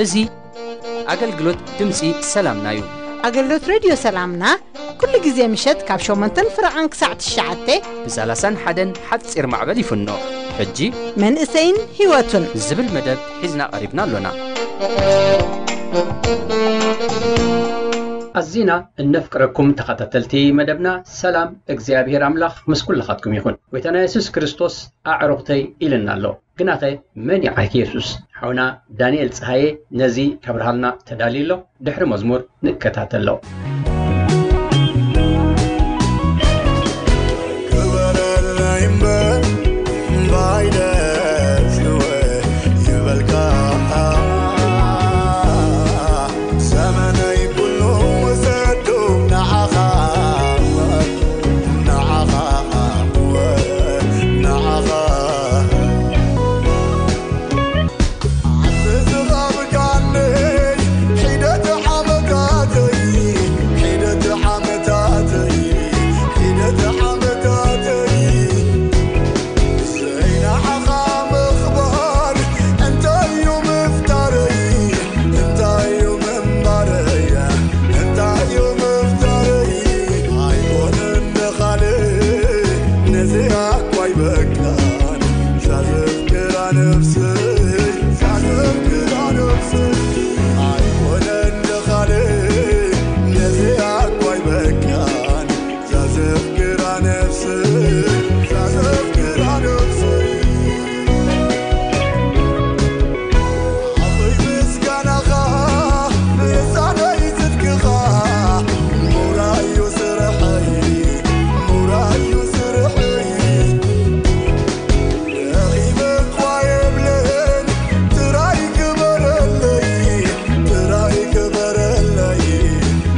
እዚ ኣገልግሎት ድምፂ ሰላምና እዩ። ኣገልግሎት ሬድዮ ሰላምና ኩሉ ግዜ ምሸት ካብ ሸሞንተን ፍረቓን ክሳዕ ትሽዓተ ብ ሰላሳን ሓደን ሓፂር ማዕበል ይፍኖ። ሕጂ መንእሰይን ህይወቱን ዝብል መደብ ሒዝና ቀሪብና ኣሎና። ኣዚና እነፍቅረኩም ተኸታተልቲ መደብና፣ ሰላም እግዚኣብሔር ኣምላኽ ምስ ኩልኻትኩም ይኹን። ጎይታና የሱስ ክርስቶስ ኣዕሩኽተይ ኢልና ኣሎ። ግናኸ መን እዩ ዓርኪ የሱስ? ሓውና ዳንኤል ጸሃየ ነዚ ከብርሃልና ተዳልዩ ኣሎ። ድሕሪ መዝሙር ንከታተሎ። ክበረለይ እምበር ባይደ ስወ ይበልካ። ዘመነይ ኩሉ ውሰዱ ንዓኻ፣ ንዓኻ፣ ንዓኻ። ዓዲ ዝቐብካኒ ሒደት ዓመታተይ፣ ሒደት ዓመታተይ፣ ሒደት ዓመታተይ። ዘይንዓኻ ምኽባር እንታይ እዩ ምፍጣረይ? እንታይ እዩ ምንባረይ? እንታይ እዩ ምፍጣረይ? ኣይኮነን ንኻልእ ነዚኣ እኳ ኣይበቃን። ዛዘፍቅራ ነፍሰይ፣ ዛዘፍቅራ ነፍሰይ። ኣይኮነን ንኻልእ ነዚኣ እኳ ኣይበቃን። ዛዘፍቅራ ነፍሰይ፣ ዛዘፍቅራ ነፍሰይ። ኣቦይ ምስጋናኻ፣ ልሳነይ ጽድቅኻ፣ ምውራይ እዩ ስርሐይ፣ ምውራይ እዩ ስርሐይ። ደኺመ እኳ የብለይን፣ ጥራይ ክበረለይ፣ ጥራይ ክበረለይ፣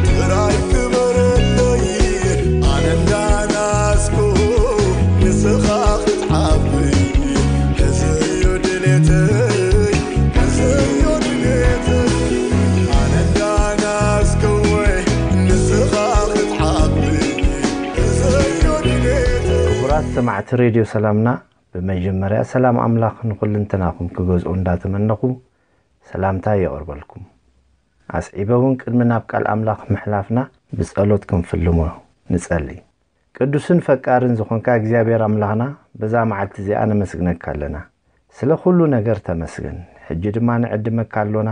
ጥራይ ክበረለይ። ኣነ እንዳናስኩ ንስኻ ክትዓቢ፣ እዚ እዩ ድሌተይ፣ እዚ እዩ ድሌተይ። ኣነ እንዳናስኩ ንስኻ ክትዓቢ፣ እዚ እዩ ድሌተይ። ክቡራት ሰማዕቲ ሬድዮ ሰላምና፣ ብመጀመርያ ሰላም ኣምላኽ ንኹልንትናኹም ክገዝኦ እንዳተመነኹ ሰላምታ የቕርበልኩም። ኣስዒበ እውን ቅድሚ ናብ ቃል ኣምላኽ ምሕላፍና ብጸሎት ክንፍልሞ ንጸሊ። ቅዱስን ፈቃርን ዝኾንካ እግዚኣብሔር ኣምላኽና፣ በዛ መዓልቲ እዚኣ ነመስግነካ ኣለና። ስለ ኩሉ ነገር ተመስገን። ሕጂ ድማ ንዕድመካ ኣሎና።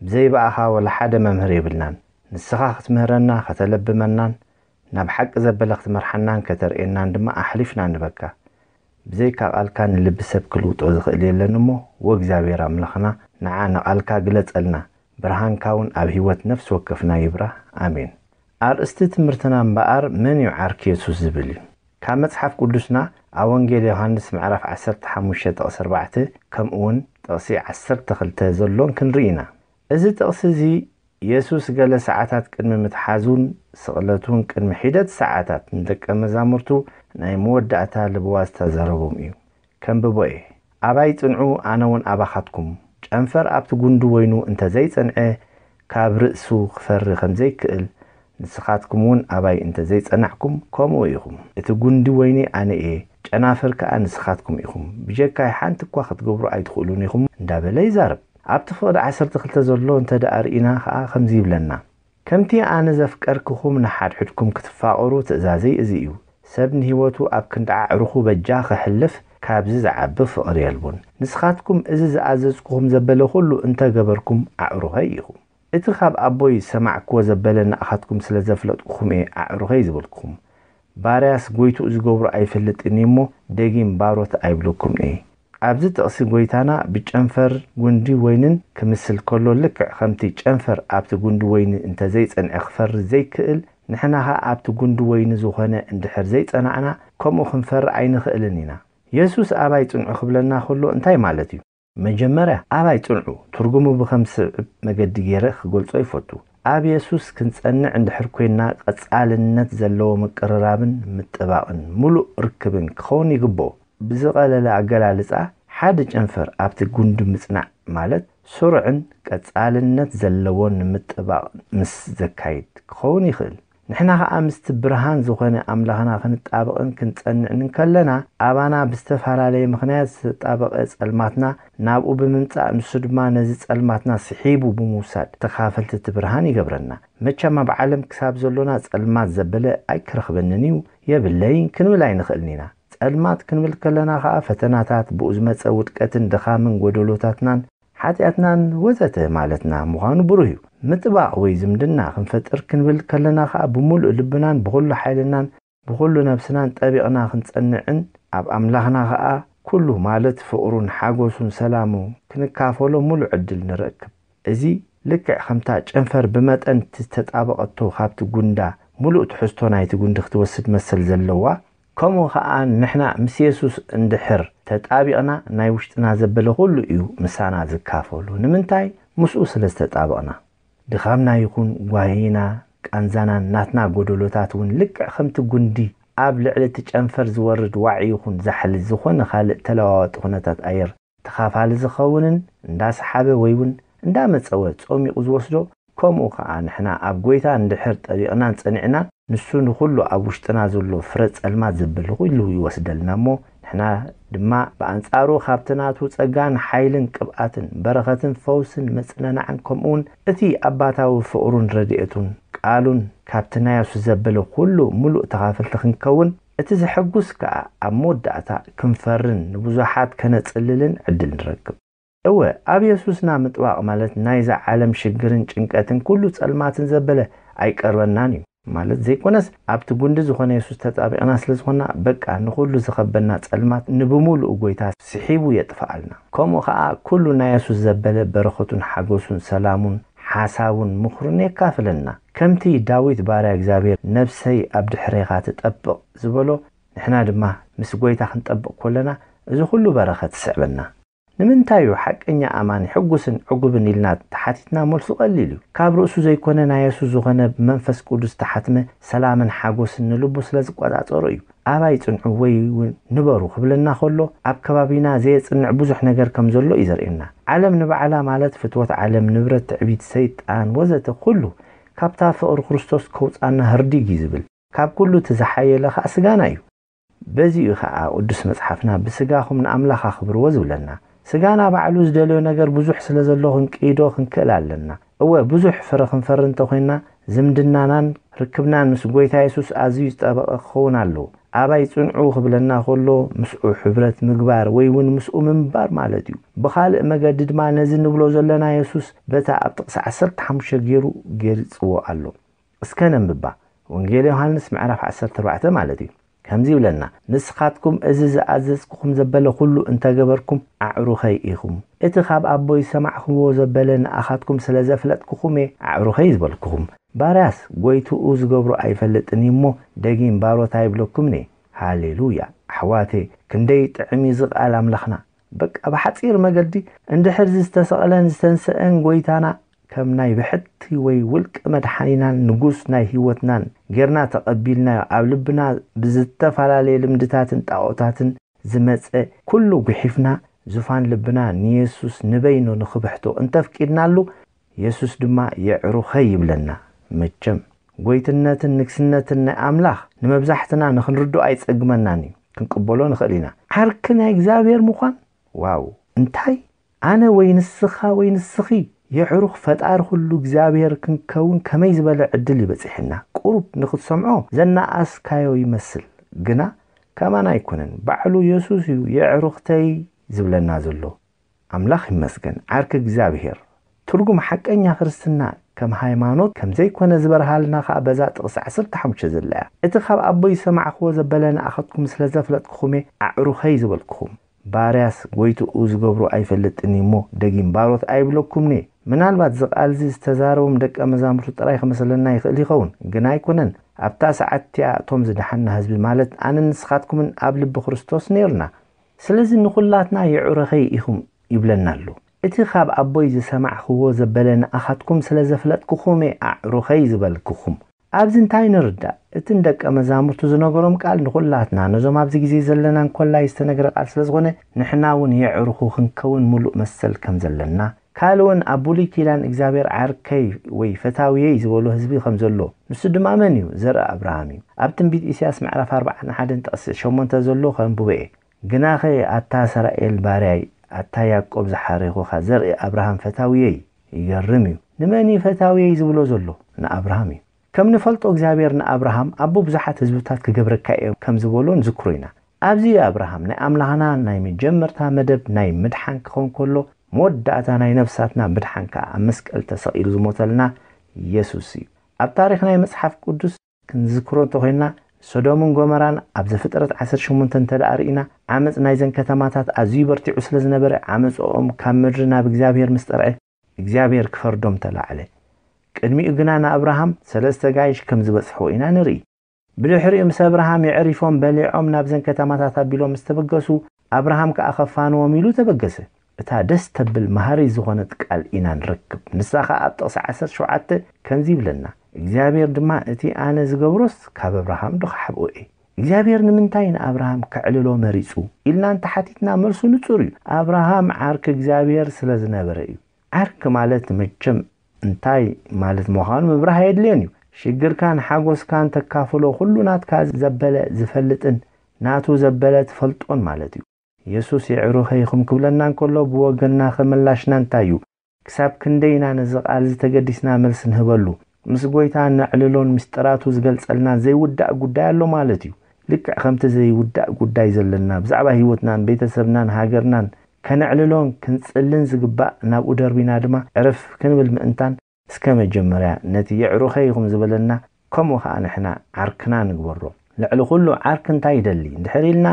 ብዘይ ብኣኻ ወላ ሓደ መምህር የብልናን። ንስኻ ክትምህረና፣ ከተለብመናን፣ ናብ ሓቂ ዘበለ ክትመርሓናን ከተርእየናን ድማ ኣሕሊፍና ንበካ። ብዘይካ ቃልካ ንልቢ ሰብ ክልውጦ ዝኽእል የለን እሞ፣ ወእግዚኣብሔር ኣምላኽና፣ ንዓ ንቓልካ ግለጸልና። ብርሃንካ እውን ኣብ ህይወት ነፍሲ ወከፍና ይብራህ። ኣሜን። ኣርእስቲ ትምህርትና እምበኣር መን እዩ ዓርኪ የሱስ ዝብል እዩ። ካብ መጽሓፍ ቅዱስና ኣብ ወንጌል ዮሃንስ ምዕራፍ ዓሰርተ ሓሙሽተ ጥቕሲ ኣርባዕተ ከምኡ እውን ጥቕሲ ዓሰርተ ክልተ ዘሎን ክንርኢ ኢና። እዚ ጥቕሲ እዚ የሱስ ገለ ሰዓታት ቅድሚ ምትሓዙን ስቕለቱን ቅድሚ ሒደት ሰዓታት ንደቀ መዛሙርቱ ናይ መወዳእታ ልብዋ ዝተዛረቦም እዩ። ከንብቦ እየ። ኣባይ ጽንዑ፣ ኣነ እውን ኣባኻትኩም። ጨንፈር ኣብቲ ጉንዲ ወይኑ እንተ ዘይጸንዐ፣ ካብ ርእሱ ክፈሪ ከም ዘይክእል፣ ንስኻትኩም እውን ኣባይ እንተ ዘይጸናዕኩም፣ ከምኡ ኢኹም። እቲ ጉንዲ ወይኒ ኣነ እየ፣ ጨናፍር ከኣ ንስኻትኩም ኢኹም። ብጀካይ ሓንቲ እኳ ክትገብሩ ኣይትኽእሉን ኢኹም እንዳበለ ይዛረብ። ኣብቲ ፍቕዲ ዓሰርተ ክልተ ዘሎ እንተ ደኣ ርኢና ከኣ ከምዚ ይብለና፣ ከምቲ ኣነ ዘፍቀርክኹም ንሓድሕድኩም ክትፋቐሩ ትእዛዘይ እዚ እዩ። ሰብ ንህይወቱ ኣብ ክንዲ ኣዕሩኹ በጃ ኸሕልፍ ካብዚ ዝዓቢ ፍቕሪ የልቦን። ንስኻትኩም እዚ ዝኣዘዝኩኹም ዘበለ ኹሉ እንተ ገበርኩም ኣዕሩኸይ ኢኹም። እቲ ኻብ ኣቦይ ዝሰማዕክዎ ዘበለ ንኣኻትኩም ስለ ዘፍለጥኩኹም እየ ኣዕሩኸይ ዝበልኩኹም። ባርያስ ጐይትኡ ዝገብሮ ኣይፈልጥን እዩ እሞ፣ ደጊም ባሮት ኣይብለኩምን እየ። ኣብዚ ጥቕሲ ጐይታና ብጨንፈር ጉንዲ ወይንን ክምስል ከሎ፣ ልክዕ ከምቲ ጨንፈር ኣብቲ ጉንዲ ወይኒ እንተ ዘይጸንዐ ክፈሪ ዘይክእል፣ ንሕና ኸኣ ኣብቲ ጉንዲ ወይኒ ዝኾነ እንድሕር ዘይጸናዕና፣ ከምኡ ክንፈሪ ኣይንኽእልን ኢና። የሱስ ኣባይ ጽንዑ ክብለና ከሎ እንታይ ማለት እዩ? መጀመርያ፣ ኣባይ ጽንዑ ትርጉሙ ብኸም ስዕብ መገዲ ገይረ ክገልጾ ይፈቱ። ኣብ የሱስ ክንጸንዕ እንድሕር ኮይንና፣ ቀጻልነት ዘለዎ ምቅርራብን ምጥባቕን ምሉእ ርክብን ክኸውን ይግብኦ። ብዝቐለለ ኣገላልጻ፣ ሓደ ጨንፈር ኣብቲ ጉንዲ ምጽናዕ ማለት ስሩዕን ቀጻልነት ዘለዎን ንምጥባቕ ምስ ዘካይድ ክኸውን ይኽእል። ንሕና ኸኣ ምስቲ ብርሃን ዝኾነ ኣምላኽና ክንጣበቕን ክንጸንዕን እንከለና፣ ኣባና ብዝተፈላለየ ምኽንያት ዝተጣበቐ ጸልማትና ናብኡ ብምምጻእ፣ ንሱ ድማ ነዚ ጸልማትና ስሒቡ ብምውሳድ ተኻፈልቲ እቲ ብርሃን ይገብረና። መቸም ኣብ ዓለም ክሳብ ዘሎና ጸልማት ዘበለ ኣይክረኽበንን እዩ፣ የብለይን ክንብል ኣይንኽእልን ኢና። ጸልማት ክንብል ከለና ኸኣ ፈተናታት፣ ብኡ ዝመጸ ውድቀትን ድኻምን፣ ጎደሎታትናን ሓጢኣትናን ወዘተ ማለትና ምዃኑ ብሩህ እዩ። ምጥባቕ ወይ ዝምድና ክንፈጥር ክንብል ከለና ኸኣ ብምሉእ ልብናን ብኹሉ ሓይልናን ብኹሉ ነብስናን ጠቢቕና ክንጸንዕን ኣብ ኣምላኽና ኸኣ ኩሉ ማለት ፍቕሩን ሓጎሱን ሰላሙ ክንካፈሎ ምሉእ ዕድል ንረክብ። እዚ ልክዕ ከምታ ጨንፈር ብመጠን እቲ ዝተጣበቐቶ ካብቲ ጉንዳ ምሉእ ትሕዝቶ ናይቲ ጉንዲ ክትወስድ መሰል ዘለዋ፣ ከምኡ ኸኣ ንሕና ምስ የሱስ እንድሕር ተጣቢቕና ናይ ውሽጥና ዘበለ ኩሉ እዩ ምሳና ዝካፈሉ። ንምንታይ? ምስኡ ስለ ዝተጣበቕና። ድኻምና ይኹን ጓሂና፣ ቃንዛናን ናትና ጎደሎታት እውን ልክዕ ከምቲ ጉንዲ ኣብ ልዕሊ እቲ ጨንፈር ዝወርድ ዋዒ ይኹን ዛሕሊ ዝኾነ ካልእ ተለዋዋጢ ኩነታት ኣየር ተኻፋሊ ዝኸውንን እንዳሰሓበ ወይ እውን እንዳመጸወ ጾሚቑ ዝወስዶ፣ ከምኡ ኸኣ ንሕና ኣብ ጐይታ እንድሕር ጠቢቕናን ጸኒዕናን፣ ንሱ ንኹሉ ኣብ ውሽጥና ዘሎ ፍረ ጸልማት ዘበለ ኩሉ ይወስደልና እሞ፣ ንሕና ድማ ብኣንጻሩ ካብቲ ናቱ ጸጋን ሓይልን ቅብኣትን በረኸትን ፈውስን መጽነናዕን ከምኡውን እቲ ኣባታዊ ፍቕሩን ረድኤቱን ቃሉን ካብቲ ናይ የሱስ ዘበለ ኩሉ ምሉእ ተኻፈልቲ ክንከውን፣ እቲ ዘሐጉስ ከኣ ኣብ መወዳእታ ክንፈርን ንብዙሓት ከነጽልልን ዕድል ንረክብ። እወ፣ ኣብ የሱስና ምጥባቕ ማለት ናይዛ ዓለም ሽግርን ጭንቀትን ኩሉ ጸልማትን ዘበለ ኣይቀርበናን እዩ ማለት ዘይኮነስ፣ ኣብቲ ጉንዲ ዝኾነ የሱስ ተጣቢቕና ስለ ዝኾንና፣ በቃ ንኹሉ ዝኸበና ጸልማት ንብምሉኡ ጐይታ ስሒቡ የጥፍኣልና። ከምኡ ኸኣ ኩሉ ናይ የሱስ ዘበለ በረኸቱን ሓጎሱን ሰላሙን ሓሳቡን ምኽሩን የካፍለና። ከምቲ ዳዊት ባርያ እግዚኣብሔር ነብሰይ ኣብ ድሕሬኻ ትጠብቕ ዝበሎ፣ ንሕና ድማ ምስ ጐይታ ክንጠብቕ ከለና እዚ ኩሉ በረኸት ይስዕበና። ንምንታይ እዩ ሓቀኛ ኣማኒ ሕጉስን ዕጉብን ኢልና ተሓቲትና መልሱ ቀሊል እዩ። ካብ ርእሱ ዘይኮነ ናይ የሱስ ዝኾነ ብመንፈስ ቅዱስ ተሓትመ ሰላምን ሓጎስን ንልቡ ስለ ዝቆጻጸሮ እዩ። ኣባይ ጽንዑ ወይ እውን ንበሩ ክብለና ከሎ ኣብ ከባቢና ዘየጽንዕ ብዙሕ ነገር ከም ዘሎ እዩ ዘርእየና። ዓለም ንባዕላ ማለት ፍትወት ዓለም፣ ንብረት፣ ትዕቢት፣ ሰይጣን ወዘተ ኩሉ ካብታ ፍቕሪ ክርስቶስ ከውጻና ህርዲግ እዩ ዝብል። ካብ ኩሉ እቲ ዝሓየለ ኸኣ ስጋና እዩ። በዚ እዩ ኸኣ ቅዱስ መጽሓፍና ብስጋኹም ንኣምላኽ ኣኽብርዎ ዝብለና። ስጋና ባዕሉ ዝደልዮ ነገር ብዙሕ ስለ ዘሎ ክንቅይዶ ክንክእል ኣለና። እወ ብዙሕ ፍረ ክንፈሪ እንተኾይንና ዝምድናናን ርክብናን ምስ ጐይታ የሱስ ኣዝዩ ዝጠበቐ ክኸውን ኣለዎ። ኣባይ ጽንዑ ክብለና ከሎ ምስኡ ሕብረት ምግባር ወይ እውን ምስኡ ምንባር ማለት እዩ። ብኻልእ መገዲ ድማ ነዚ ንብሎ ዘለና የሱስ በታ ኣብ ጥቕሲ ዓሰርተ ሓሙሽተ ገይሩ ገሊጽዎ ኣሎ። እስከ ነንብባ። ወንጌል ዮሃንስ ምዕራፍ ዓሰርተ ኣርባዕተ ማለት እዩ። ከምዚ ይብለና፣ ንስኻትኩም እዚ ዝኣዘዝኩኹም ዘበለ ኩሉ እንተገበርኩም ኣዕሩኸይ ኢኹም። እቲ ካብ ኣቦይ ዝሰማዕኽዎ ዘበለ ንኣኻትኩም ስለ ዘፍለጥኩኹም እየ ኣዕሩኸይ ዝበልኩኹም። ባርያስ ጐይትኡ ዝገብሮ ኣይፈልጥን እዩ እሞ ደጊም ባሮት ኣይብለኩምን እየ። ሃሌሉያ! ኣሕዋተይ፣ ክንደይ ጥዕም እዩ እዚ ቃል ኣምላኽና። በቃ ብሓጺር መገዲ እንድሕር እዚ ዝተሰቕለን ዝተንስአን ጐይታና ከም ናይ ብሕቲ ወይ ውልቂ መድሓኒናን ንጉስ ናይ ህይወትናን ጌርና ተቐቢልናዮ፣ ኣብ ልብና ብዝተፈላለየ ልምድታትን ጣኦታትን ዝመጸ ኩሉ ጉሒፍና፣ ዙፋን ልብና ንየሱስ ንበይኑ ንኽብሕቶ እንተፍቂድናሉ፣ የሱስ ድማ የዕሩኸይ ይብለና። መቸም፣ ጐይትነትን ንግስነትን ናይ ኣምላኽ ንመብዛሕትና ንኽንርድኦ ኣይጸግመናን እዩ። ክንቅበሎ ንኽእል ኢና። ዓርኪ ናይ እግዚኣብሔር ምዃን፣ ዋው! እንታይ ኣነ ወይ ንስኻ ወይ ንስኺ የዕሩኽ ፈጣሪ ኩሉ እግዚኣብሔር ክንከውን ከመይ ዝበለ ዕድል እዩ በጺሕና። ቁሩብ ንኽትሰምዖ ዘነኣስካዮ ይመስል፣ ግና ከማን ኣይኮነን። ባዕሉ የሱስ እዩ የዕሩኽተይ ዝብለና ዘሎ። ኣምላኽ ይመስገን። ዓርኪ እግዚኣብሔር። ትርጉም ሓቀኛ ክርስትና ከም ሃይማኖት ከም ዘይኮነ ዝበርሃልና ኸኣ በዛ ጥቕሲ ዓሰርተ ሓሙሽተ ዘላ እያ። እቲ ካብ ኣቦይ ዝሰማዕክዎ ዘበለ ንኣኻትኩም ስለ ዘፍለጥኩኹም እየ ኣዕሩኸይ ዝበልኩኹም። ባርያስ ጐይትኡ ዝገብሮ ኣይፈልጥን እዩ እሞ ደጊም ባሮት ኣይብለኩምን እየ። ምናልባት እዚ ቃል እዚ ዝተዛረቦም ደቀ መዛሙርቱ ጥራይ ክመስለና ይኽእል ይኸውን፣ ግን ኣይኮነን። ኣብታ ሰዓት እቲኣ እቶም ዝደሓንና ህዝቢ ማለት ኣነን ንስኻትኩምን ኣብ ልቢ ክርስቶስ ነይርና። ስለዚ ንኹላትና የዕሩኸይ ኢኹም ይብለና ኣሎ። እቲ ካብ ኣቦይ ዝሰማዕክዎ ዘበለ ንኣኻትኩም ስለ ዘፍለጥኩኹም እየ ኣዕሩኸይ ዝበልኩኹም። ኣብዚ እንታይ ንርዳእ? እቲ ንደቀ መዛሙርቱ ዝነገሮም ቃል ንኹላትና፣ ነዞም ኣብዚ ግዜ ዘለና እንኮላይ ዝተነግረ ቃል ስለ ዝኾነ፣ ንሕና እውን የዕሩኹ ክንከውን ምሉእ መሰል ከም ዘለና፣ ካልእ እውን ኣብ ብሉይ ኪዳን እግዚኣብሔር ዓርከይ ወይ ፈታውየይ ዝበሎ ህዝቢ ከም ዘሎ፣ ንሱ ድማ መን እዩ? ዘርኢ ኣብርሃም እዩ። ኣብ ትንቢት ኢሳያስ ምዕራፍ ኣርባዓን ሓደን ጥቕሲ ሸሞንተ ዘሎ ከንብቦ እየ። ግናኸ ኣታ እስራኤል ባርያይ፣ ኣታ ያዕቆብ ዝሓሬኹኻ፣ ዘርኢ ኣብርሃም ፈታውየይ። ይገርም እዩ። ንመን እዩ ፈታውየይ ዝብሎ ዘሎ? ንኣብርሃም እዩ። ከም ንፈልጦ እግዚኣብሔር ንኣብርሃም ኣቦ ብዙሓት ህዝብታት ክገብረካ እየ ከም ዝበሎ ንዝክሮ ኢና። ኣብዚ ኣብርሃም ናይ ኣምላኽና ናይ መጀመርታ መደብ ናይ ምድሓን ክኸውን ከሎ፣ መወዳእታ ናይ ነፍሳትና ምድሓን ከኣ ኣብ መስቀል ተሰቒሉ ዝሞተልና የሱስ እዩ። ኣብ ታሪኽ ናይ መጽሓፍ ቅዱስ ክንዝክሮ እንተኾይንና፣ ሶዶምን ጎመራን ኣብ ዘፍጥረት ዓሰርተ ሸሞንተ እንተ ደኣ ርኢና፣ ዓመጽ ናይዘን ከተማታት ኣዝዩ በርቲዑ ስለ ዝነበረ፣ ዓመጽኦም ካብ ምድሪ ናብ እግዚኣብሔር ምስ ጠርዐ፣ እግዚኣብሔር ክፈርዶም ተላዕለ። ቅድሚኡ ግና ንኣብርሃም ሰለስተ ጋይሽ ከም ዝበጽሕዎ ኢና ንርኢ። ብድሕሪኡ ምስ ኣብርሃም የዕሪፎም በሊዖም ናብዘን ከተማታት ኣቢሎም ምስ ተበገሱ፣ ኣብርሃም ከኣ ከፋንዎም ኢሉ ተበገሰ። እታ ደስ ተብል መሃሪት ዝኾነት ቃል ኢና ንረክብ። ንሳ ኸኣ ኣብ ጥቕሲ ዓሰርተ ሸውዓተ ከምዚ ይብለና፣ እግዚኣብሔር ድማ፣ "እቲ ኣነ ዝገብሮስ ካብ ኣብርሃም ዶ ክሓብኦ እየ?" እግዚኣብሔር ንምንታይ ንኣብርሃም ከዕልሎ መሪጹ ኢልና እንተሓቲትና፣ መልሱ ንጹር እዩ። ኣብርሃም ዓርኪ እግዚኣብሔር ስለ ዝነበረ እዩ። ዓርኪ ማለት መቸም እንታይ ማለት ምዃኑ ምብራህ ኣየድልዮን እዩ። ሽግርካን ሓጎስካን ተካፍሎ፣ ኩሉ ናትካ ዘበለ ዝፈልጥን ናቱ ዘበለ ትፈልጦን ማለት እዩ። የሱስ የዕሩኸይ ኢኹም ክብለና እንከሎ፣ ብወገንና ኸ ምላሽና እንታይ እዩ? ክሳብ ክንደይ ኢና ነዚ ቃል እዚ ተገዲስና መልሲ ንህበሉ? ምስ ጐይታ ነዕልሎን ምስጢራቱ ዝገልጸልና ዘይውዳእ ጉዳይ ኣሎ ማለት እዩ። ልክዕ ከምቲ ዘይውዳእ ጉዳይ ዘለና፣ ብዛዕባ ህይወትናን ቤተሰብናን ሃገርናን ከነዕልሎን ክንጽልን ዝግባእ፣ ናብኡ ደርቢና ድማ ዕርፍ ክንብል ምእንታን፣ እስከ መጀመርያ ነቲ የዕሩኸይ ኢኹም ዝበለና፣ ከምኡ ኸኣ ንሕና ዓርክና ንግበሮ። ልዕሊ ኹሉ ዓርኪ እንታይ ይደሊ እንድሕር ኢልና፣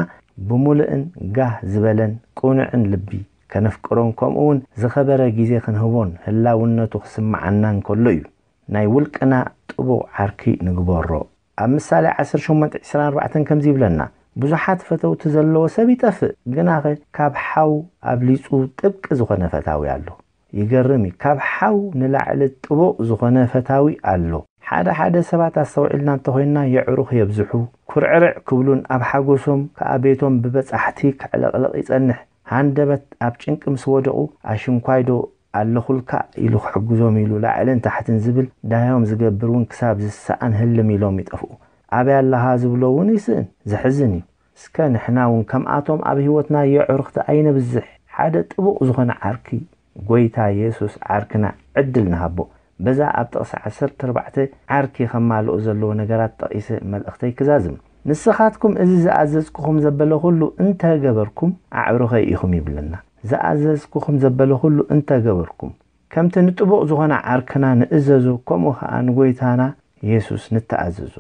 ብምሉእን ጋህ ዝበለን ቅኑዕን ልቢ ከነፍቅሮን፣ ከምኡ እውን ዝኸበረ ግዜ ክንህቦን ህላውነቱ ክስምዓና እንከሎ እዩ። ናይ ውልቅና ጥቡቕ ዓርኪ ንግበሮ። ኣብ ምሳሌ ዓሰርተ ሸሞንተ ዕስራን ኣርባዕተን ከምዚ ይብለና፣ "ብዙሓት ፈተውቲ ዘለዎ ሰብ ይጠፍእ፣ ግናኸ ካብ ሓው ኣብሊጹ ጥብቂ ዝኾነ ፈታዊ ኣሎ።" ይገርም እዩ። ካብ ሓው ንላዕሊ ጥቡቕ ዝኾነ ፈታዊ ኣሎ። ሓደ ሓደ ሰባት ኣስተውዒልና እንተኾይንና፣ የዕሩኽ የብዝሑ፣ ኩርዕርዕ ክብሉን ኣብ ሓጎሶም ከኣ ቤቶም ብበጻሕቲ ከዕለቕልቕ ይጸንሕ። ሃንደበት ኣብ ጭንቂ ምስ ወደቑ፣ "ኣሽንኳይዶ ኣለኹልካ?" ኢሉ ክሕግዞም ኢሉ ላዕልን ታሕትን ዝብል፣ ዳዮም ዝገብር እውን ክሳብ ዝሰኣን ህልም ኢሎም ይጠፍኡ። "ኣበይ ኣለኻ?" ዝብሎ እውን ይስእን። ዘሕዝን እዩ። እስከ ንሕና እውን ከምኣቶም ኣብ ህይወትና የዕሩኽቲ ኣይነብዝሕ። ሓደ ጥቡቕ ዝኾነ ዓርኪ፣ ጐይታ የሱስ ዓርክና ዕድል ንሃቦ። በዛ ኣብ ጥቕሲ ዓሰርተ ኣርባዕተ ዓርኪ ከማልኦ ዘለዎ ነገራት ጠቒሰ መልእኽተይ ክዛዝም። "ንስኻትኩም እዚ ዝኣዘዝኩኹም ዘበለ ኹሉ እንተ ገበርኩም፣ ኣዕሩኸይ ኢኹም" ይብለና። ዝኣዘዝኩኹም ዘበለ ኹሉ እንተ ገበርኩም። ከምቲ ንጥቡቕ ዝኾነ ዓርክና ንእዘዞ፣ ከምኡ ኸኣ ንጐይታና የሱስ ንተኣዘዞ።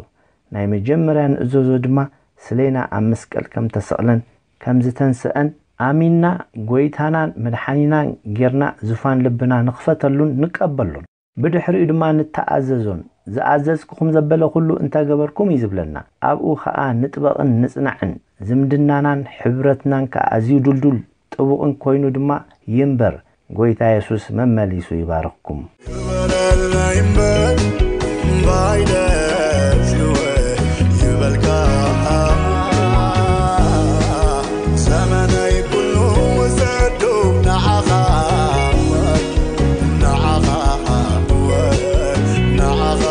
ናይ መጀመርያ ንእዘዞ ድማ፣ ስሌና ኣብ መስቀል ከም ተሰቕለን ከም ዝተንስአን ኣሚንና፣ ጐይታናን መድሓኒናን ጌርና፣ ዙፋን ልብና ንኽፈተሉን ንቀበሎን። ብድሕሪኡ ድማ ንተኣዘዞን። "ዝኣዘዝኩኹም ዘበለ ኹሉ እንተ ገበርኩም" እዩ ዝብለና። ኣብኡ ኸኣ ንጥበቕን ንጽናዕን። ዝምድናናን ሕብረትናን ከኣ ኣዝዩ ድልዱል ጥቡቕን ኮይኑ ድማ ይንበር። ጐይታ የሱስ መመሊሱ ይባርኽኩም። ግበረለይ እምበር እምባይ ደስ ይበልካ፣ ዘመነይ ኩሉ ውሰዱ ንዓኻ፣ ንዓኻ፣ ንዓኻ።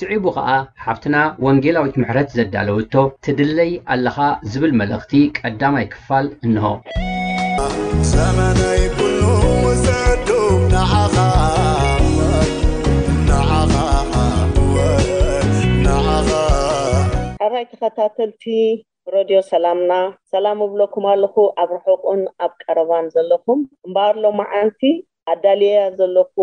ስዒቡ ኸኣ ሓብትና ወንጌላዊት ምሕረት ዘዳለወቶ ትድለይ ኣለኻ ዝብል መልእኽቲ ቀዳማይ ክፋል እንሆ። ዘመነይ ኩሉ ውሰዱ ንዓኻ፣ ንዓኻ፣ ንዓኻ። ሕራይ ተኸታተልቲ ረድዮ ሰላምና፣ ሰላም እብለኩም ኣለኹ፣ ኣብ ርሑቕን ኣብ ቀረባን ዘለኹም። እምበኣር ሎማዓንቲ ኣዳልየያ ዘለኹ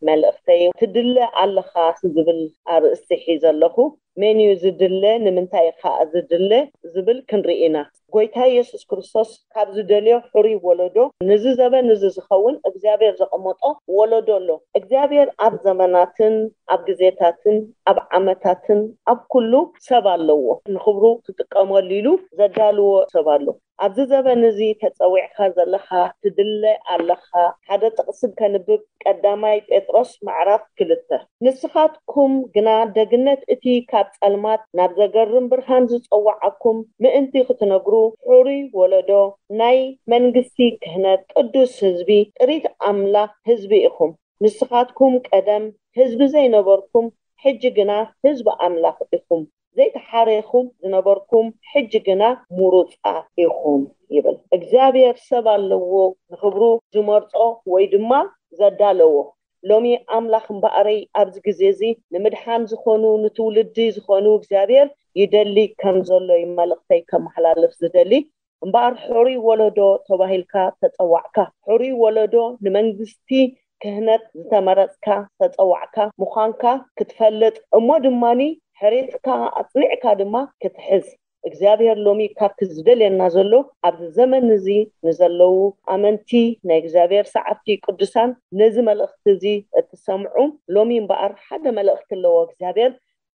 መልእኽተይ፣ "ትድለ ኣለኻ" ዝብል ኣርእስቲ ሒዘ ኣለኹ። መን እዩ ዝድለ? ንምንታይ እዩ ኸኣ ዝድለ? ዝብል ክንርኢ ኢና። ጎይታ የሱስ ክርስቶስ ካብ ዝደልዮ ሕሩይ ወለዶ፣ ንዚ ዘበን እዚ ዝኸውን እግዚኣብሔር ዘቐመጦ ወለዶ ኣሎ። እግዚኣብሔር ኣብ ዘመናትን ኣብ ግዜታትን ኣብ ዓመታትን ኣብ ኩሉ ሰብ ኣለዎ። ንኽብሩ ክጥቀመሉ ኢሉ ዘዳልዎ ሰብ ኣሎ። ኣብዚ ዘበን እዚ ተጸዊዕካ ዘለኻ፣ ትድለ ኣለኻ። ሓደ ጥቕሲ ከንብብ፣ ቀዳማይ ጴጥሮስ ምዕራፍ ክልተ። ንስኻትኩም ግና ደግነት እቲ ካብ ጸልማት ናብ ዘገርም ብርሃን ዝጸዋዓኩም ምእንቲ ክትነግሩ፣ ሕሩይ ወለዶ፣ ናይ መንግስቲ ክህነት፣ ቅዱስ ህዝቢ፣ ጥሪት ኣምላኽ ህዝቢ ኢኹም። ንስኻትኩም ቀደም ህዝቢ ዘይነበርኩም፣ ሕጂ ግና ህዝቢ ኣምላኽ ኢኹም። ዘይተሓሬኹም ዝነበርኩም፣ ሕጂ ግና ምሩጻት ኢኹም ይብል። እግዚኣብሔር ሰብ ኣለዎ፣ ንኽብሩ ዝመርጾ ወይ ድማ ዘዳለዎ። ሎሚ ኣምላኽ እምበኣረይ ኣብዚ ግዜ እዚ ንምድሓን ዝኾኑ፣ ንትውልዲ ዝኾኑ እግዚኣብሔር ይደሊ ከም ዘሎ እዩ መልእኽተይ ከመሓላልፍ ዝደሊ። እምበኣር ሕሩይ ወለዶ ተባሂልካ ተጸዋዕካ። ሕሩይ ወለዶ ንመንግስቲ ክህነት ዝተመረጽካ፣ ተጸዋዕካ ምዃንካ ክትፈልጥ፣ እሞ ድማኒ ሕሬትካ ኣጽኒዕካ ድማ ክትሕዝ። እግዚኣብሔር ሎሚ ካብቲ ዝደልየና ዘሎ ኣብዚ ዘመን እዚ ንዘለዉ ኣመንቲ ናይ እግዚኣብሔር ሰዓብቲ ቅዱሳን ነዚ መልእኽቲ እዚ እትሰምዑ፣ ሎሚ እምበኣር ሓደ መልእኽቲ ኣለዎ እግዚኣብሔር፣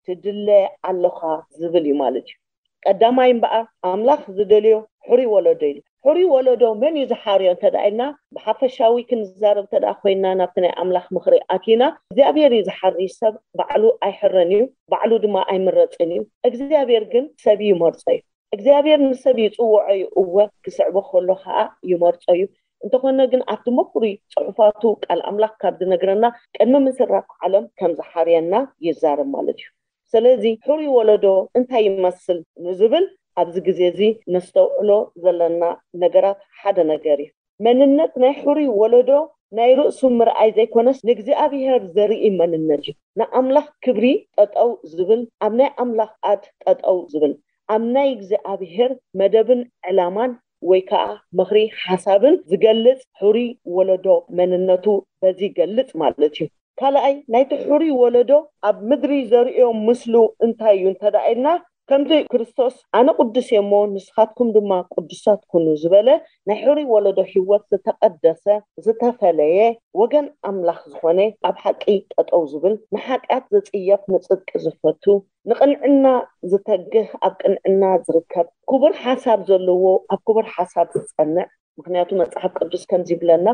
ትድለ ኣለኻ ዝብል እዩ ማለት እዩ። ቀዳማይ እምበኣር ኣምላኽ ዝደልዮ ሕሩይ ወለዶ ኢሉ። ሕሩይ ወለዶ መን እዩ ዝሓርዮ እንተ ደኣ ኢልና፣ ብሓፈሻዊ ክንዛረብ እንተ ደኣ ኮይና፣ ናብቲ ናይ ኣምላኽ ምኽሪ ኣቲና፣ እግዚኣብሔር እዩ ዝሓሪ፣ ሰብ ባዕሉ ኣይሕረን እዩ፣ ባዕሉ ድማ ኣይምረጽን እዩ። እግዚኣብሔር ግን ሰብ ይመርጾ እዩ። እግዚኣብሔር ንሰብ ይጽውዖ እዩ፣ እወ፣ ክስዕቦ ከሎ ኸኣ ይመርጾ እዩ። እንተኾነ ግን ኣብቲ ምኹሪ ጽሑፋቱ ቃል ኣምላኽ ካብ ዝነግረና፣ ቅድሚ ምስራት ዓለም ከም ዝሓርየና ይዛረብ ማለት እዩ። ስለዚ ሕሩይ ወለዶ እንታይ ይመስል ንዝብል ኣብዚ ግዜ እዚ ነስተውዕሎ ዘለና ነገራት ሓደ ነገር እዩ። መንነት ናይ ሕሩይ ወለዶ ናይ ርእሱ ምርኣይ ዘይኮነስ ንእግዚኣብሔር ዘርኢ መንነት እዩ። ንኣምላኽ ክብሪ ጠጠው ዝብል፣ ኣብ ናይ ኣምላኽ ኣድ ጠጠው ዝብል፣ ኣብ ናይ እግዚኣብሔር መደብን ዕላማን ወይ ከዓ ምኽሪ ሓሳብን ዝገልጽ ሕሩይ ወለዶ መንነቱ በዚ ይገልጽ ማለት እዩ። ካልኣይ ናይቲ ሕሩይ ወለዶ ኣብ ምድሪ ዘርእዮ ምስሉ እንታይ እዩ እንተ ደኣ ኢልና፣ ከምቲ ክርስቶስ ኣነ ቅዱስ እየ እሞ ንስኻትኩም ድማ ቅዱሳት ኩኑ ዝበለ ናይ ሕሩይ ወለዶ ህይወት ዝተቐደሰ ዝተፈለየ ወገን ኣምላኽ ዝኾነ ኣብ ሓቂ ጠጠው ዝብል ንሓጢኣት ዝጽየፍ ንጽድቂ ዝፈቱ ንቕንዕና ዝተግህ ኣብ ቅንዕና ዝርከብ ክቡር ሓሳብ ዘለዎ ኣብ ክቡር ሓሳብ ዝጸንዕ ምክንያቱ መጽሓፍ ቅዱስ ከምዚ ይብለና፣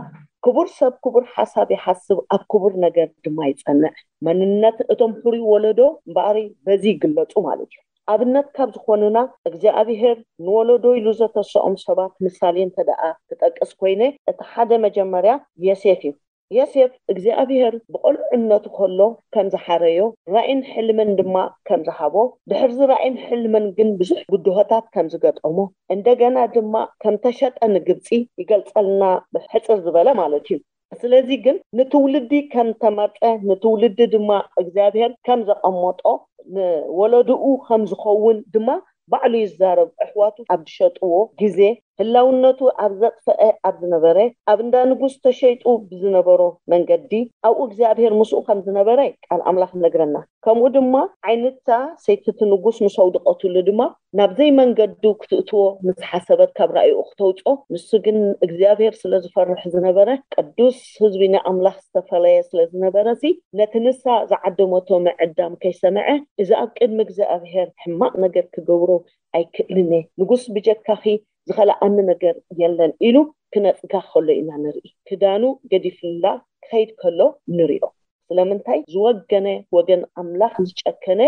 ክቡር ሰብ ክቡር ሓሳብ ይሓስብ፣ ኣብ ክቡር ነገር ድማ ይጸንዕ። መንነት እቶም ሕሩይ ወለዶ እምበኣሪ በዚ ይግለጹ ማለት እዩ። ኣብነት ካብ ዝኾኑና እግዚኣብሔር ንወለዶ ኢሉ ዘተሰኦም ሰባት ምሳሌ እንተ ደኣ ክጠቅስ ኮይነ፣ እቲ ሓደ መጀመርያ የሴፍ እዩ። የሴፍ እግዚኣብሔር ብቆልዕነቱ ከሎ ከም ዝሓረዮ ራእይን ሕልምን ድማ ከም ዝሃቦ ድሕርዚ ራእይን ሕልምን ግን ብዙሕ ብድሆታት ከም ዝገጠሞ እንደገና ድማ ከም ተሸጠ ንግብፂ ይገልፀልና ብሕፅር ዝበለ ማለት እዩ። ስለዚ ግን ንትውልዲ ከም ተመርፀ ንትውልዲ ድማ እግዚኣብሔር ከም ዘቐመጦ ንወለድኡ ከም ዝኸውን ድማ ባዕሉ ይዛረብ። ኣሕዋቱ ኣብ ዝሸጥዎ ግዜ ህላውነቱ ኣብ ዘጥፈአ ኣብ ዝነበረ ኣብ እንዳ ንጉስ ተሸይጡ ብዝነበሮ መንገዲ ኣብኡ እግዚኣብሔር ምስኡ ከም ዝነበረ ቃል ኣምላኽ ነግረና። ከምኡ ድማ ዓይንታ ሰይትቲ ንጉስ ምስ ኣውድቀትሉ ድማ ናብ ዘይመንገዱ ክትእትዎ ምስ ሓሰበት ካብ ራእይኡ ክተውፅኦ ንሱ ግን እግዚኣብሔር ስለ ዝፈርሕ ዝነበረ ቅዱስ ህዝቢ ንኣምላኽ ዝተፈለየ ስለ ዝነበረ ሲ ነቲ ንሳ ዝዓደመቶ ምዕዳም ከይሰምዐ እዚ ኣብ ቅድሚ እግዚኣብሔር ሕማቕ ነገር ክገብሮ ኣይክእልን እየ። ንጉስ ብጀካኺ ዝኸልኣኒ ነገር የለን ኢሉ ክነጽጋ ከሎ ኢና ንርኢ። ክዳኑ ገዲፍላ ክኸይድ ከሎ ንሪኦ። ስለምንታይ ዝወገነ ወገን ኣምላኽ ዝጨከነ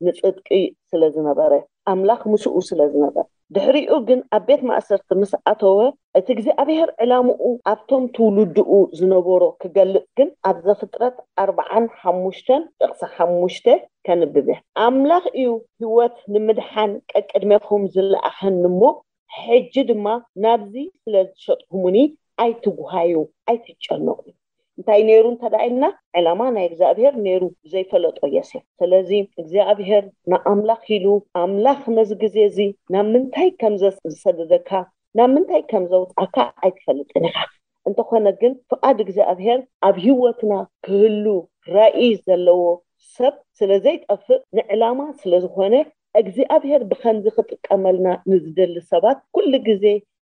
ንጽድቂ ስለ ዝነበረ ኣምላኽ ምስኡ ስለ ዝነበረ ድሕሪኡ ግን ኣብ ቤት ማእሰርቲ ምስ ኣተወ እቲ እግዚኣብሔር ዕላምኡ ኣብቶም ትውልድኡ ዝነበሮ ክገልጽ ግን ኣብ ዘፍጥረት ኣርብዓን ሓሙሽተን ጥቕሲ ሓሙሽተ ከንብብ እየ። ኣምላኽ እዩ ህይወት ንምድሓን ቀቅድሜኹም ዝለኣኸኒ እሞ ሕጂ ድማ ናብዚ ስለ ዝሸጥኩሙኒ ኣይትጉሃዩ ኣይትጨነቑ። እንታይ ነይሩ እንተ ደኣ ኢልና ዕላማ ናይ እግዚኣብሔር ነይሩ ዘይፈለጦ ዮሴፍ። ስለዚ እግዚኣብሔር ንኣምላኽ ኢሉ ኣምላኽ ነዚ ግዜ እዚ ናብ ምንታይ ከም ዝሰደደካ ናብ ምንታይ ከም ዘውፅኣካ ኣይትፈልጥን ኢኻ። እንተኾነ ግን ፍቓድ እግዚኣብሔር ኣብ ህይወትና ክህሉ ራእይ ዘለዎ ሰብ ስለ ዘይጠፍእ ንዕላማ ስለ ዝኾነ እግዚኣብሔር ብኸምዚ ክጥቀመልና ንዝደሊ ሰባት ኩሉ ግዜ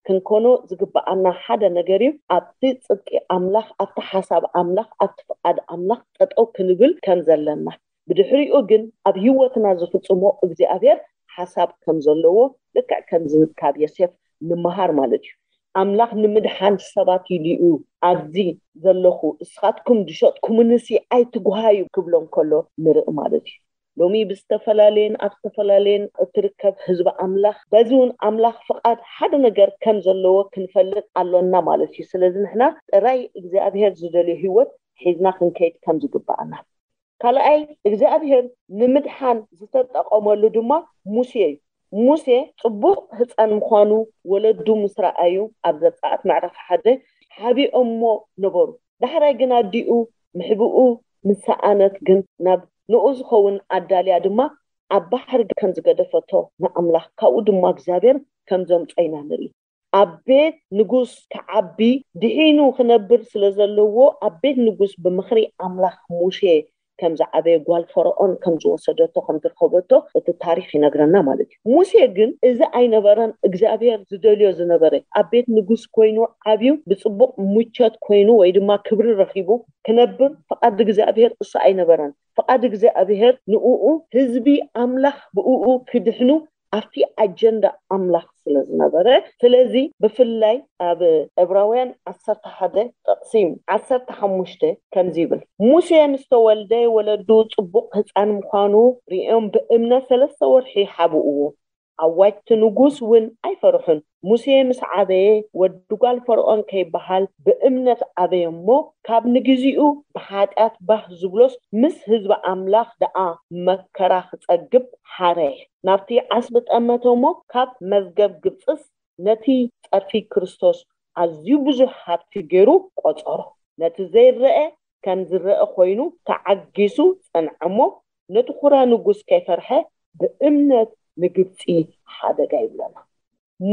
ክንኮኖ ዝግብኣና ሓደ ነገር እዩ። ኣብቲ ጽድቂ ኣምላኽ፣ ኣብቲ ሓሳብ ኣምላኽ፣ ኣብቲ ፍቓድ ኣምላኽ ጠጠው ክንብል ከም ዘለና፣ ብድሕሪኡ ግን ኣብ ህይወትና ዝፍጽሞ እግዚኣብሔር ሓሳብ ከም ዘለዎ፣ ልክዕ ከምዚ ካብ ዮሴፍ ንምሃር ማለት እዩ። ኣምላኽ ንምድሓን ሰባት ኢሉ እዩ ኣብዚ ዘለኹ፣ እስኻትኩም ዝሸጥኩምንሲ ኣይትጉሃዩ ክብሎም ከሎ ንርኢ ማለት እዩ። ሎሚ ብዝተፈላለየን ኣብ ዝተፈላለየን እትርከብ ህዝቢ ኣምላኽ፣ በዚ እውን ኣምላኽ ፍቓድ ሓደ ነገር ከም ዘለዎ ክንፈልጥ ኣሎና ማለት እዩ። ስለዚ ንሕና ጥራይ እግዚኣብሔር ዝደልዮ ህይወት ሒዝና ክንከይድ ከም ዝግብኣና። ካልኣይ እግዚኣብሔር ንምድሓን ዝተጠቐመሉ ድማ ሙሴ እዩ። ሙሴ ጽቡቕ ህፃን ምዃኑ ወለዱ ምስ ረኣዩ ኣብ ዘጸኣት ምዕራፍ ሓደ ሓቢኦሞ ነበሩ። ዳሕራይ ግን ኣዲኡ ምሕብኡ ምስ ሰኣነት ግን ናብ ንኡ ዝኸውን ኣዳልያ ድማ ኣብ ባሕሪ ከም ዝገደፈቶ ንኣምላኽ ካብኡ ድማ እግዚኣብሔር ከም ዘምጾ ኢና ንርኢ። ኣብ ቤት ንጉስ ክዓቢ ድሒኑ ክነብር ስለ ዘለዎ ኣብ ቤት ንጉስ ብምኽሪ ኣምላኽ ሙሴ ከም ዝዓበየ ጓል ፈርዖን ከም ዝወሰደቶ ከም ዝረኸበቶ እቲ ታሪኽ ይነግረና ማለት እዩ። ሙሴ ግን እዚ ኣይነበረን እግዚኣብሔር ዝደልዮ ዝነበረ። ኣብ ቤት ንጉስ ኮይኑ ዓብዩ ብፅቡቕ ሙቸት ኮይኑ ወይ ድማ ክብሪ ረኺቡ ክነብር ፍቓድ እግዚኣብሔር እሱ ኣይነበረን። ፍቓድ እግዚኣብሔር ንኡ ህዝቢ ኣምላኽ ብኡ ክድሕኑ ኣብቲ ኣጀንዳ ኣምላኽ ስለ ዝነበረ። ስለዚ ብፍላይ ኣብ ዕብራውያን ዓሰርተ ሓደ ጥቕሲ ዓሰርተ ሓሙሽተ ከምዚ ይብል፣ ሙሴ ምስ ተወልደ ወለዱ ጽቡቕ ህፃን ምዃኑ ሪኦም ብእምነት ሰለስተ ወርሒ ሓብእዎ። ኣዋጅቲ ንጉስ እውን ኣይፈርሑን። ሙሴ ምስ ዓበየ ወዲ ጓል ፈርዖን ከይበሃል ብእምነት ዓበየ እሞ ካብ ንግዚኡ ብሓጢኣት ባህ ዝብሎስ ምስ ህዝቢ ኣምላኽ ደኣ መከራ ክጸግብ ሓረየ። ናብቲ ዓስቢ ጠመተ እሞ ካብ መዝገብ ግብጽስ ነቲ ጸርፊ ክርስቶስ ኣዝዩ ብዙሕ ሃብቲ ገይሩ ቆጸሮ። ነቲ ዘይረአ ከም ዝረአ ኮይኑ ተዓጊሱ ጸንዐ እሞ ነቲ ኩራ ንጉስ ከይፈርሐ ብእምነት ንግብጺ ሓደጋ ይብለና።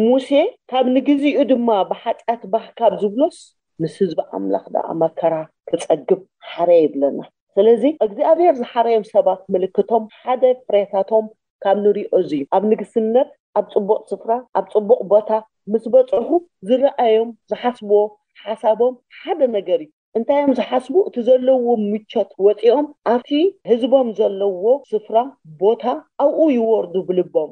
ሙሴ ካብ ንግዚኡ ድማ ብሓጢኣት ባህ ካብ ዝብሎስ ምስ ህዝቢ ኣምላኽ ደኣ መከራ ክጸግብ ሓረ ይብለና። ስለዚ እግዚኣብሔር ዝሓረዮም ሰባት ምልክቶም ሓደ ፍሬታቶም ካብ ንሪኦ እዚ እዩ። ኣብ ንግስነት ኣብ ጽቡቕ ስፍራ ኣብ ጽቡቕ ቦታ ምስ በጽሑ ዝረኣዮም ዝሓስብዎ ሓሳቦም ሓደ ነገር እዩ። እንታይ እዮም ዝሓስቡ? እቲ ዘለዎም ምቾት ወፂኦም ኣብቲ ህዝቦም ዘለዎ ስፍራ ቦታ ኣብኡ ይወርዱ ብልቦም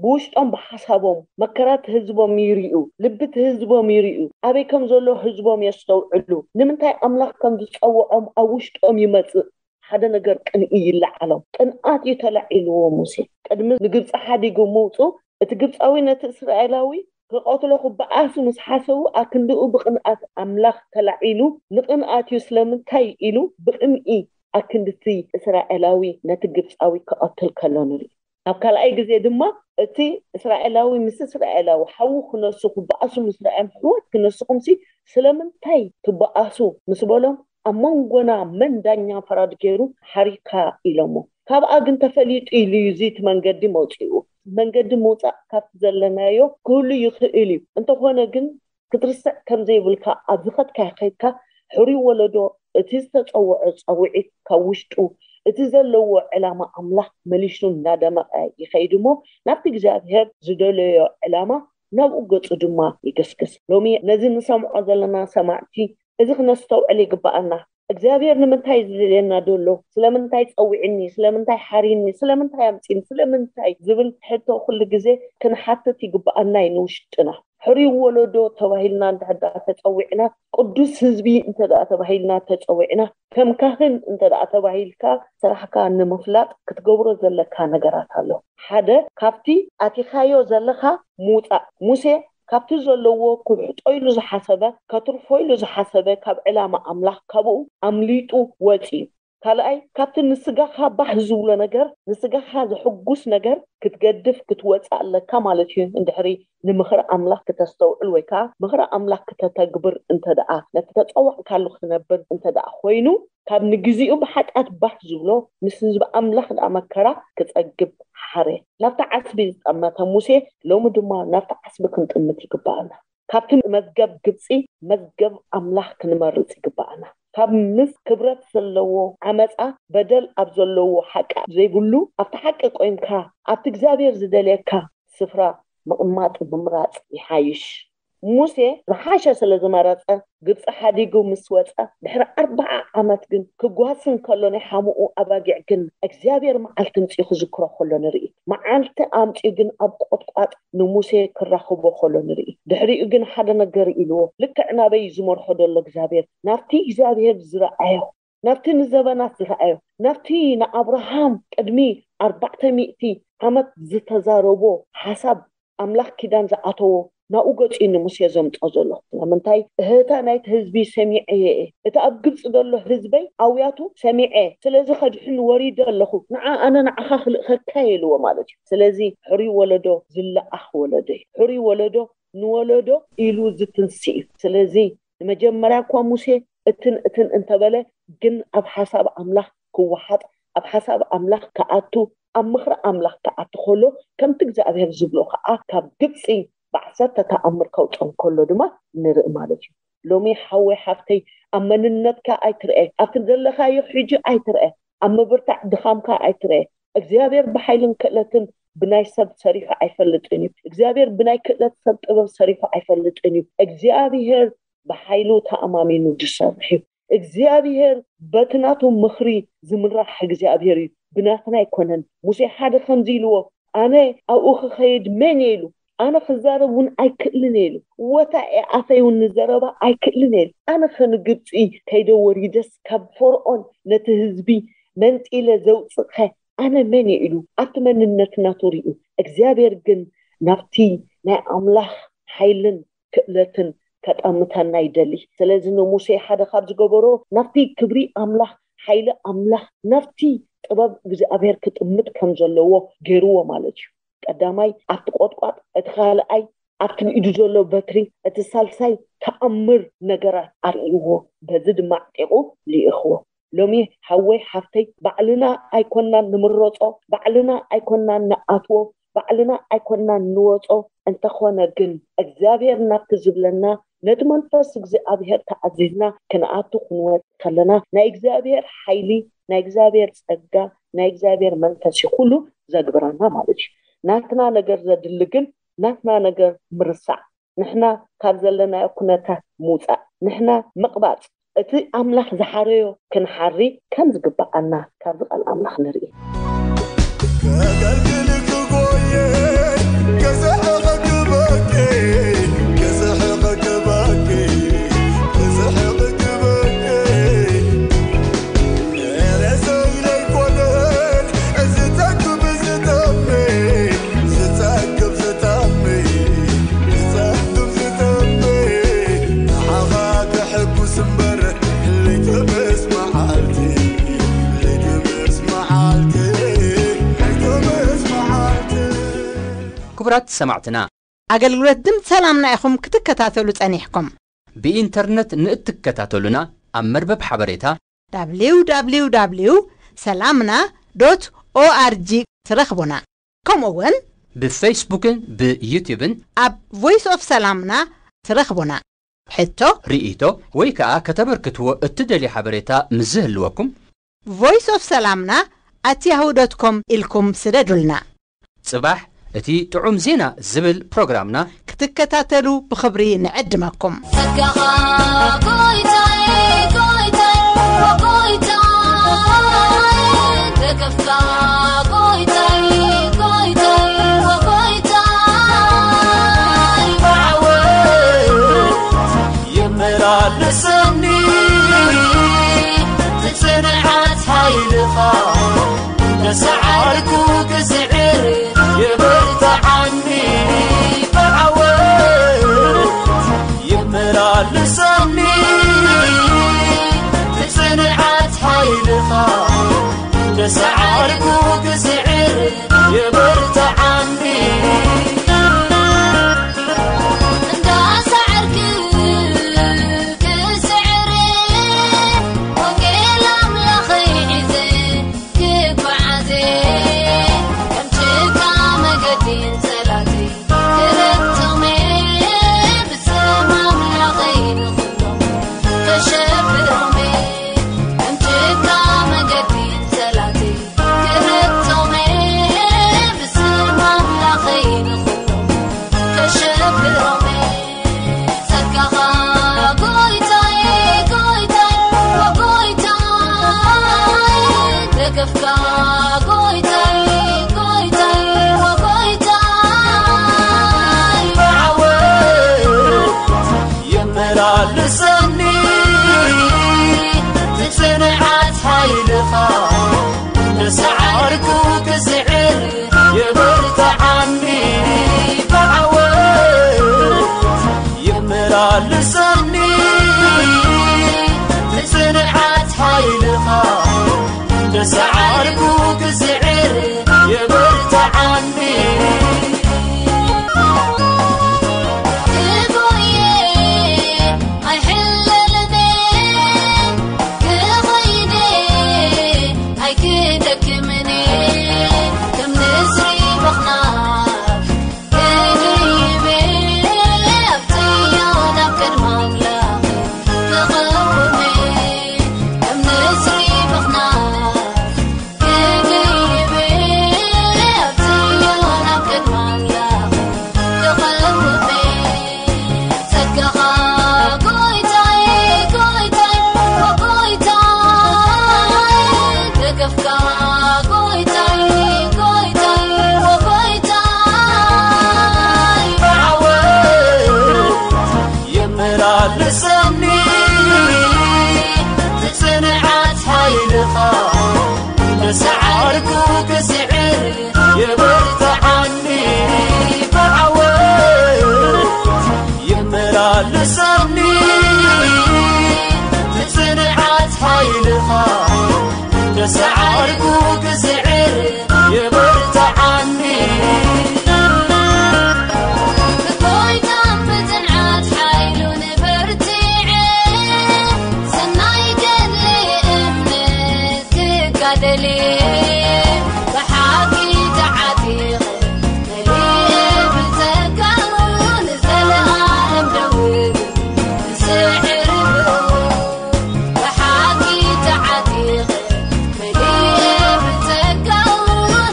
ብውሽጦም ብሓሳቦም መከራት ህዝቦም ይርዩ ልብቲ ህዝቦም ይርዩ ኣበይ ከም ዘሎ ህዝቦም የስተውዕሉ ንምንታይ ኣምላኽ ከም ዝፀውዖም ኣብ ውሽጦም ይመፅእ ሓደ ነገር ቅንኢ ይለዓሎም ቅንኣት እዩ ተላዒልዎ ሙሴ ቅድሚ ንግብፂ ሓዲጉ ምውፁ እቲ ግብፃዊ ነቲ እስራኤላዊ ክቐትሎ ክበኣሱ ምስ ሓሰቡ ኣክንድኡ ብቕንኣት ኣምላኽ ተላዒሉ ንቕንኣት እዩ ስለምንታይ ኢሉ ብቕንኢ ኣክንድቲ እስራኤላዊ ነቲ ግብፃዊ ክቐትል ከሎ ንርኢ ኣብ ካልኣይ ግዜ ድማ እቲ እስራኤላዊ ምስ እስራኤላዊ ሓዉ ክነሱ ክበኣሱ ምስ ረኣዮም ሕወት ክነስኹምሲ ስለምንታይ ትበኣሱ ምስ በሎም ኣብ መንጎና መን ዳኛ ፈራድ ገይሩ ሓሪካ ኢሎሞ ካብኣ ግን ተፈሊጡ ኢሉ እዩ እዚ እቲ መንገዲ መውፅኡ መንገዲ ምውፃእ ካብቲ ዘለናዮ ክህሉ ይኽእል እዩ እንተኾነ ግን ክትርስዕ ከም ዘይብልካ ኣብ ዝኸድካዮ ከይድካ ሕሩይ ወለዶ እቲ ዝተፀውዖ ፀውዒት ካብ ውሽጡ እቲ ዘለዎ ዕላማ ኣምላኽ መሊሱ እናደመቐ ይኸይድ እሞ ናብቲ እግዚኣብሔር ዝደለዮ ዕላማ ናብኡ ገፁ ድማ ይገስግስ ሎሚ ነዚ ንሰምዖ ዘለና ሰማዕቲ እዚ ክነስተውዕል ይግበኣና እግዚኣብሔር ንምንታይ ዝደልየና ደሎ ስለምንታይ ፀዊዕኒ ስለምንታይ ሓሪኒ ስለምንታይ ኣምፂኒ ስለምንታይ ዝብል ሕቶ ኩሉ ግዜ ክንሓትት ይግበኣና እዩ ንውሽጥና ሕሩይ ወለዶ ተባሂልና እንድሕር ደኣ ተፀዊዕና ቅዱስ ህዝቢ እንተ ደኣ ተባሂልና ተፀዊዕና ከም ካህን እንተ ደኣ ተባሂልካ ስራሕካ ንምፍላጥ ክትገብሮ ዘለካ ነገራት ኣሎ ሓደ ካብቲ ኣቲኻዮ ዘለኻ ምውፃእ ሙሴ ካብቲ ዘለዎ ክውሕጦ ኢሉ ዝሓሰበ ከትርፎ ኢሉ ዝሓሰበ ካብ ዕላማ ኣምላኽ ካብኡ ኣምሊጡ ወፂ እዩ ካልኣይ ካብቲ ንስጋኻ ባህ ዝብሎ ነገር ንስጋኻ ዘሐጉስ ነገር ክትገድፍ ክትወፅእ ኣለካ ማለት እዩ እንድሕሪ ንምኽሪ ኣምላኽ ክተስተውዕል ወይ ከዓ ምኽሪ ኣምላኽ ክተተግብር እንተ ደኣ ነቲ ተፀዋዕካሉ ክትነብር እንተ ደኣ ኮይኑ ካብ ንግዚኡ ብሓጢኣት ባህ ዝብሎ ምስ ህዝቢ ኣምላኽ ደኣ መከራ ክፀግብ ሓረ ናብቲ ዓስቢ ዝጠመተ ሙሴ ሎሚ ድማ ናብቲ ዓስቢ ክንጥምት ይግበኣና ካብቲ መዝገብ ግብፂ መዝገብ ኣምላኽ ክንመርፅ ይግበኣና ካብ ምስ ክብረት ዘለዎ ዓመፃ በደል ኣብ ዘለዎ ሓቂ ዘይብሉ ኣብቲ ሓቂ ቆይምካ ኣብቲ እግዚኣብሔር ዝደልየካ ስፍራ ምቕማጥ ምምራፅ ይሓይሽ። ሙሴ ዝሓሸ ስለ ዝመረፀ ግብፂ ሓዲጉ ምስ ወፀ ድሕሪ ኣርባዓ ዓመት ግን ክጓስን ከሎ ናይ ሓሙኡ ኣባጊዕ ግን እግዚኣብሔር መዓልቲ ምፅኡ ክዝክሮ ከሎ ንርኢ። መዓልቲ ኣምፅኡ ግን ኣብ ቆጥቋጥ ንሙሴ ክራኽቦ ከሎ ንርኢ። ድሕሪኡ ግን ሓደ ነገር ኢልዎ፣ ልክዕ ናበይ ዝመርሖ ዘሎ እግዚኣብሔር ናብቲ እግዚኣብሔር ዝረኣዮ ናብቲ ንዘበናት ዝረኣዮ ናብቲ ንኣብርሃም ቅድሚ ኣርባዕተ ሚእቲ ዓመት ዝተዛረቦ ሓሳብ ኣምላኽ ኪዳን ዝኣተዎ ናብኡ ገጺ ንሙሴ ዘምጾ ዘሎ። ስለምንታይ እህታ ናይቲ ህዝቢ ሰሚዐ እየ፣ እቲ ኣብ ግብጺ ዘሎ ህዝበይ ኣውያቱ ሰሚዐ፣ ስለዚ ከድሕን ወሪደ ኣለኹ። ንዓ ኣነ ንዓኻ ክልእኸካ እየ ኢልዎ ማለት እዩ። ስለዚ ሕሩይ ወለዶ ዝለኣኽ ወለዶ እዩ። ሕሩይ ወለዶ ንወለዶ ኢሉ ዝትንሲ እዩ። ስለዚ ንመጀመርያ እኳ ሙሴ እትን እትን እንተበለ ግን ኣብ ሓሳብ ኣምላኽ ክወሓጥ ኣብ ሓሳብ ኣምላኽ ክኣቱ ኣብ ምኽሪ ኣምላኽ ክኣቱ ከሎ ከምቲ እግዚኣብሔር ዝብሎ ከዓ ካብ ግብፂ ብዓሰርተ ተኣምር ከውፀን ከሎ ድማ ንርኢ ማለት እዩ። ሎሚ ሓወይ ሓፍተይ ኣብ መንነትካ ኣይትርአ ኣብቲ ዘለካዮ ሕጂ ኣይትርአ ኣብ ምብርታዕ ድኻምካ ኣይትርአ። እግዚኣብሔር ብሓይልን ክእለትን ብናይ ሰብ ሰሪሑ ኣይፈልጥን እዩ። እግዚኣብሔር ብናይ ክእለት ሰብ ጥበብ ሰሪሑ ኣይፈልጥን እዩ። እግዚኣብሔር ብሓይሉ ተኣማሚኑ ዝሰርሕ እዩ። እግዚኣብሔር በቲ ናቱ ምኽሪ ዝምራሕ እግዚኣብሔር እዩ። ብናትና ኣይኮነን። ሙሴ ሓደ ከምዚ ኢልዎ ኣነ ኣብኡ ክኸይድ መን እየ ኢሉ ኣነ ክዛረብ እውን ኣይክእልን እየ ኢሉ ወታ እየ ኣፈይ እውን ንዘረባ ኣይክእልን እየ ኢሉ ኣነ ከንግብፂ ከይደ ወሪደስ ካብ ፈርኦን ነቲ ህዝቢ መንጢለ ዘውፅእኸ ኣነ መን እየ ኢሉ ኣብቲ መንነት ናቱ ርዩ እግዚኣብሔር ግን ናብቲ ናይ ኣምላኽ ሓይልን ክእለትን ከጠምተና ይደሊ። ስለዚ ንሙሴ ሓደ ካብ ዝገበሮ ናብቲ ክብሪ ኣምላኽ ሓይሊ ኣምላኽ ናብቲ ጥበብ እግዚኣብሔር ክጥምት ከም ዘለዎ ገይርዎ ማለት እዩ። ቀዳማይ ኣብቲ ቆጥቋጥ፣ እቲ ካልኣይ ኣብቲ ንኢዱ ዘሎ በትሪ፣ እቲ ሳልሳይ ተኣምር ነገራት ኣርእይዎ፣ በዚ ድማ ኣዕጢቑ ልኢኽዎ። ሎሚ ሓወይ ሓፍተይ ባዕልና ኣይኮናን ንምረጾ፣ ባዕልና ኣይኮናን ንኣትዎ፣ ባዕልና ኣይኮናን ንወጾ። እንተኾነ ግን እግዚኣብሔር ናብቲ ዝብለና ነቲ መንፈስ እግዚኣብሔር ተኣዚዝና ክንኣቱ ክንወጽእ ከለና ናይ እግዚኣብሔር ሓይሊ ናይ እግዚኣብሔር ጸጋ ናይ እግዚኣብሔር መንፈስ እዩ ኩሉ ዘግብረና ማለት እዩ። ናትና ነገር ዘድሊ ግን ናትና ነገር ምርሳዕ ንሕና ካብ ዘለናዮ ኩነታት ምውፃእ ንሕና ምቕባፅ እቲ ኣምላኽ ዝሓረዮ ክንሓሪ ከም ዝግብኣና ካብዚ ቃል ኣምላኽ ንርኢ። ከገልግልኪ ጎየ ክስሕቕ ክበኪ ክስሕቕ ክበኪ ክስሕቕ ክበኪ ሬሰይ ለይኮነን ዝጠግብ ዝጠሚ ዝጠግብ ዝጠሚ ዝጠግብ ዝጠሚ ንዓኻ ክሕጉስ እምበር ለይቲ ምስ መዓልቲ ለይቲ ምስ መዓልቲ ለይቲ ምስ መዓልቲ ክቡራት ሰማዕትና ኣገልግሎት ድምፂ ሰላምና ኢኹም ክትከታተሉ ጸኒሕኩም። ብኢንተርነት ንእትከታተሉና ኣብ መርበብ ሓበሬታ www ሰላምና ዶት ኦኣርጂ ትረኽቡና። ከምኡ እውን ብፌስቡክን ብዩትዩብን ኣብ ቮይስ ኦፍ ሰላምና ትረኽቡና። ሕቶ፣ ርእይቶ ወይ ከዓ ከተበርክትዎ እትደልዩ ሓበሬታ ምስ ዝህልወኩም voice of ሰላምና at yahoo dot com ኢልኩም ስደዱልና። ጽባሕ እቲ ጥዑም ዜና ዝብል ፕሮግራምና ክትከታተሉ ብኽብሪ ንዕድመኩም። ጸጋኻ ጎይታይ ጎይታይ ጎይታይ ደገፍካ ጎይታይ ጎይታይ ጎይታይ ብዓወት የመላልሰኒ ብጽንዓት ሓይልኻ እንዳሰዓርኩ ክስዕር የበርትዓኒ ብዓወት የመላልሰኒ ብጽንዓት ሓይልኻ እንዳሰዓርኩ ክስዕር የበርትዓኒ እንዳሰዓርኩ ክስዕር ወንጌል ኣምላኸይ ሒዘ ክጓዓዘ ከም ጭቃ መገዲ ጸላቲ ክረግጦመ ብስም ኣምላኸይ ንኹን ነሳዓርኩ ክስዕር የበርትዓኒ ብዓወት ይመላለሰኒ ብጽንዓት ሓይልኻ ነሳዓርኩ ክስዕር የበርትዓኒ ክጎየ ኣይሕለልኔ ክኸይደ ኣይክደክምኔ ከም ንስሪ ምኽናፍ ክድይቤ ኣብትዮ ናብ ቅድሚ ኣምላኽ ክቐውሜ ከም ንስሪ ምኽናፍ የመላልሰኒ ብጽንዓት ሓይልኻ ነሳዓርኩ ክስዕር የበርትዓኒ ብዓወት የመላልሰኒ ብጽንዓት ሓይልኻ ነሳዓርኩ ክስዕር የበርትዓኒ ብጎይታን ብጽንዓት ሓይሉ ንበርትዐ ሰናይ ገድሊ እምነት ክጋደል ብሓቂ ተዓጢቐ መሊኤ ብጸጋኡ ንዘለኣለም ደው ክስዕር ብኡ ብሓቂ ተዓጢቐ መሊኤ ብጸጋኡ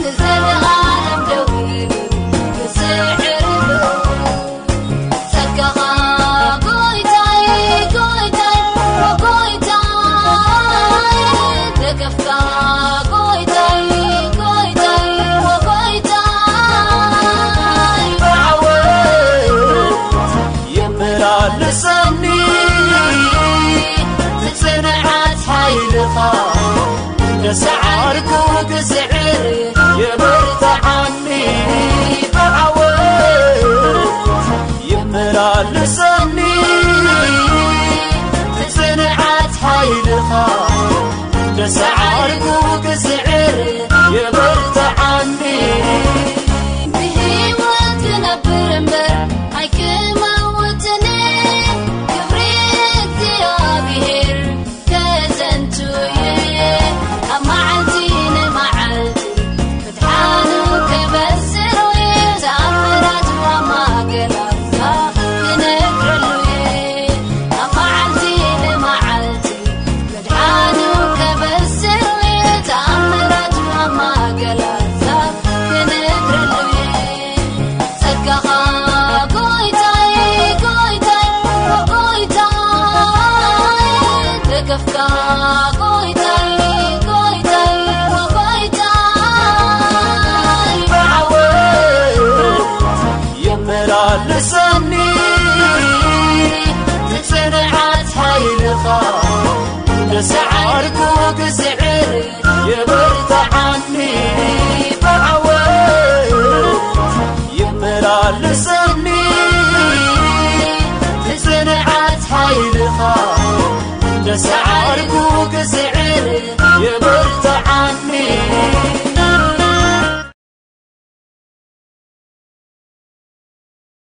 ንዘለኣለም ደው ክስዕር ብኡ ጸጋኻ ጎይታይ ጎይታይ ጎይታይ ደገፍካ ጎይታይ ጎይታይ ጎይታይ ብዓወት የመላልሰኒ ብጽንዓት ሓይልኻ ነሳዓርኩ ክስዕር የበርትዓኒ ብዓወት የመላልሰኒ ብጽንዓት ሓይልኻ ነሳዓርኩ ክስዕር የበርትዓኒ ብህይወት ክነብር እምበር ኣይክመውትን ክብሪ እግዚኣብሔር ከዘንቱ እየ ካብ መዓልቲ ንመዓልቲ ምድሓኑ ከበስር እየ ተኣምራቱ ኣብ ማእከል ኣህዛብ ክነግረሉ እየ ኣብ መዓልቲ ንመዓልቲ ምድሓኑ ከበስር እየ ተኣምራቱ ኣብ ማእከል ኣህዛብ ክነግረሉ እየ ጸጋኻ ጎይታይ ጎይታይ ጎይታይ ደገፍካ ጎይታይ ጎይታይ ጎይታይ ብዓወት የመላልሰኒ ብጽንዓት ሓይልኻ ነሳዓርኩ ክስዕር የበርትዓኒ ብዓወት የመላልሰኒ ብጽንዓት ሓይልኻ ነሳዓርኩ ክስዕር የበ